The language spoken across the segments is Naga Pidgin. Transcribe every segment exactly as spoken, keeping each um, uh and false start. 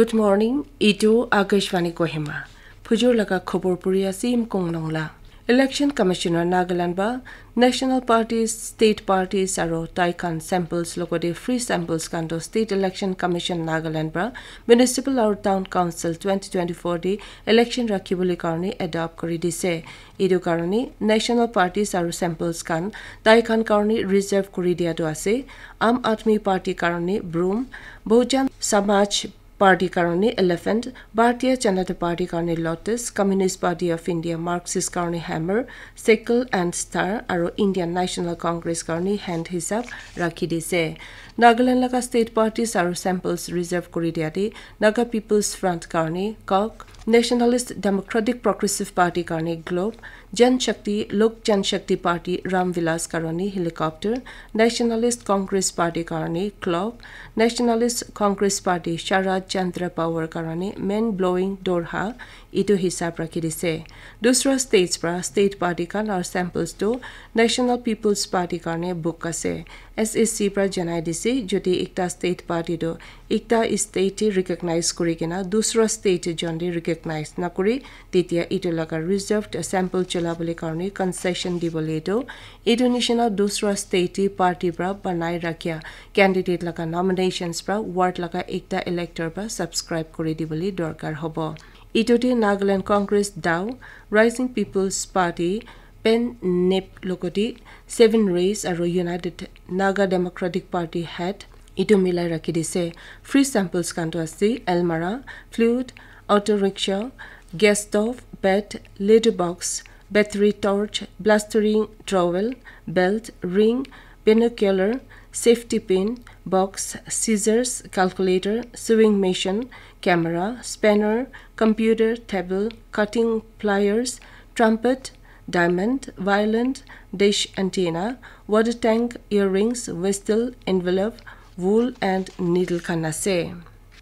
Good morning, etu Akashvani Kohima. Phujur laga khobor puri ase Imkong Nongla. Election Commissioner Nagaland ba National Parties, State Parties aro tai khan samples logode free samples khan to State Election Commission Nagaland ba Municipal aro Town Council twenty twenty-four de election rakhibole karone adopt kuri dise. Etu karone National Parties aro samples khan tai khan karone reserve kuri dia tu ase. Aam Aadmi Party karone broom, Bahujan Samaj Party karone elephant, Bharatiya Janata Party karone lotus, Communist Party of India Marxist karone hammer, sickle and star, aro Indian National Congress karone hand hisab rakhi dise. Nagaland laga state parties aro samples reserve kuri dia de Naga People's Front karone cock, Nationalist Democratic Progressive Party karone globe, Jan Shakti, Lok Jan Shakti Party Ram Vilas karone helicopter, Nationalist Congress Party karone clock, Nationalist Congress Party Sharad Chandra Pawar karone men blowing dorha, etu hisab rakhi dise. Dusra states pra state party khan aro samples tu National People's Party karone book ase. S S C pra janai dise, jodi ekta state party tu ekta state te recognize kuri kena dusra state te jon de recognize nakuri, tetia etu laga reserved sample cholabole karone concession dibole tu etu nishina dusra state te party pra banai rakhia candidate laga nominations pra ward laga ekta elector pra subscribe kuri dibole dorkar hobo. Etu te Nagaland Congress dao, Rising People's Party, Pen Nep logoti, Seven Rays aro United Naga Democratic Party hat etu milai rakhi dise. Free samples khan tu ase almirah, flute, auto rickshaw, gas stove, bed, litter box, battery torch, plastering trowel, belt, ring, binocular, safety pin, box, scissors, calculator, sewing machine, camera, spanner, computer, table, cutting pliers, trumpet, diamond, violin, dish antenna, water tank, earrings, whistle, envelope, wool and needle khan ase.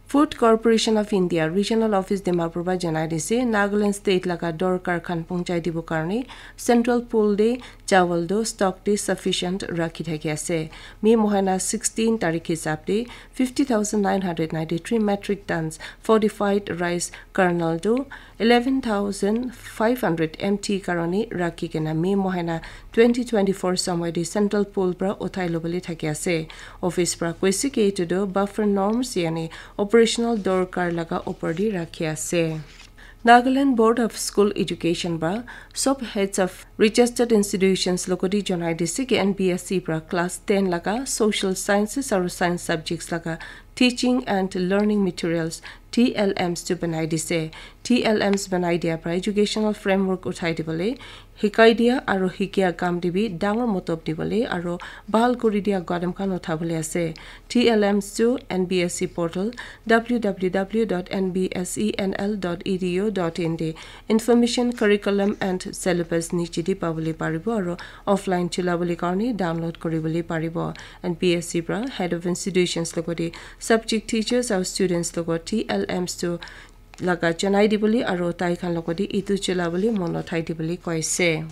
Food Corporation of India Regional Office Dimapur ba janai dise, Nagaland State laga dorkar khan pongchai dibo karone central pool de chawal do stock de sufficient rakhi thaki ase. May mohana sixteen tarik hisab de fifty thousand nine hundred ninety-three metric tons fortified rice kernel do eleven thousand five hundred M T karone rakhi kena May mohana twenty twenty-four somoy de central pool pra uthai lobole thaki ase. Office pra koise ki etu tu buffer norms yani operational dorkar laga upor de rakhi ase. Nagaland Board of School Education ba sob heads of registered institutions logoti janai dise ki N B S E pra class ten laga social sciences aro science subjects laga teaching and learning materials T L Ms tu banai dise. T L Ms banai dia pra educational framework uthai dibole, hikai dia aro hikia kam de bi dangor motob dibole aro bhal kuri dia gadam khan uthabole ase. T L Ms tu N B S E portal W W W dot N B S E N L dot E D U dot in de information, curriculum and syllabus niche de pabole paribo aro offline chulabole karone download kuribole paribo. N B S E pra head of institutions logoti subject teachers aro students logot T L Ms tu laga janai dibole aro tai khan logoti etu chulabole mon uthai dibole koise.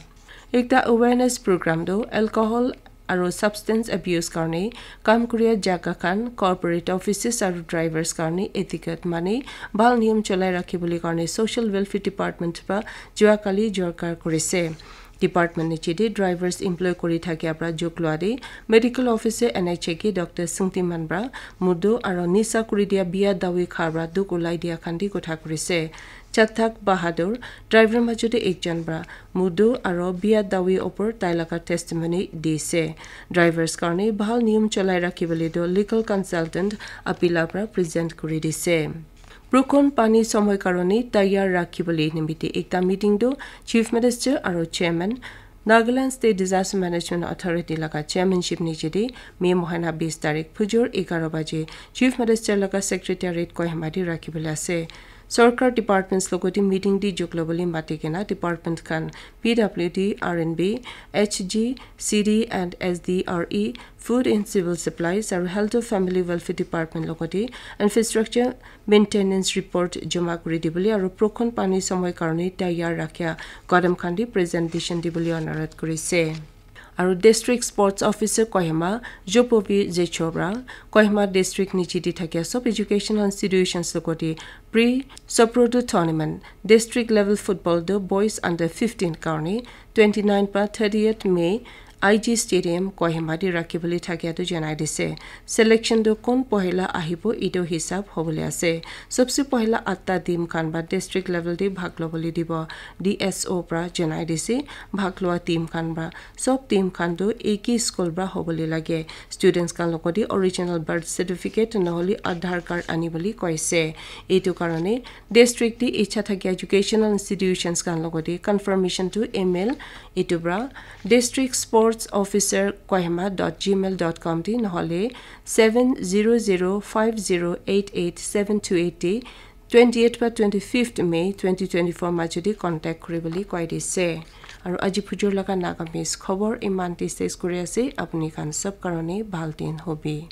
Ekta awareness program tu alcohol aro substance abuse karone kam kuria jaga khan, corporate offices aro drivers karone etiquette mane bhal niyam cholai rakhibole karone Social Welfare Department pra jua kali jorkar kurise. Department niche de drivers employ kuri thakia pra juk lua de medical officer N H A ke Doctor Singtiman pra mudu aro nisa kuri dia bia dawi kha pra duk ulai dia khan de kotha kurise. Chathak Bahadur, driver majo de ekjon pra mudu aro bia dawi opor tai laga testimony dise. Drivers karone bhal niyam cholai rakhibole do legal consultant Apila pra present kuri dise. Brukhon pani somoy karone tayar rakhibole nimite ekta meeting do Chief Minister aro Chairman Nagaland State Disaster Management Authority laga chairmanship niche de May mohana bis tarik phujur egaro baje Chief Minister laga secretariat Kohima de rakhibole ase. Sorkar departments logoti meeting de juk lobole mati kena department khan P W D, R and B, H G, C D and S D R E, Food and Civil Supplies aro Health and Family Welfare Department logoti infrastructure maintenance report joma kuri dibole aro Brukhon pani somoy karone tayar rakhia gadam khan de presentation dibole onurodh kurise. Aru District Sports Officer Kohima, Jopovi Zecho pra Kohima District niche te thakia sob educational institutions logoti pre Soprodu Tournament District Level Football tu Boys Under fifteen karne twenty nine pra thirtieth May I G Stadium Kohima te rakhibole thakia tu janai dise. Selection tu kon pohila ahibo etu hisab hobole ase. Sobse pohila atta team khan ba district level te bhag lobole dibo, D S O pra janai dise. Bhag loa team khan ba sob team khan tu eki school pra hobole lage. Students khan logote original birth certificate nohole Aadhaar card anibole koise. Etu karone district te icha thakia educational institutions khan logote confirmation tu email etu pra district sports officer Kohima dot gmail dot com te nohole seven zero zero five zero eight eight seven two eight te twenty eight pra twenty fifth May twenty twenty four majodi contact kuribole koi dise. Aru aji phujur laga Nagamese khobor iman te ses kuri ase. Apuni khan sob karone bhal din hobi.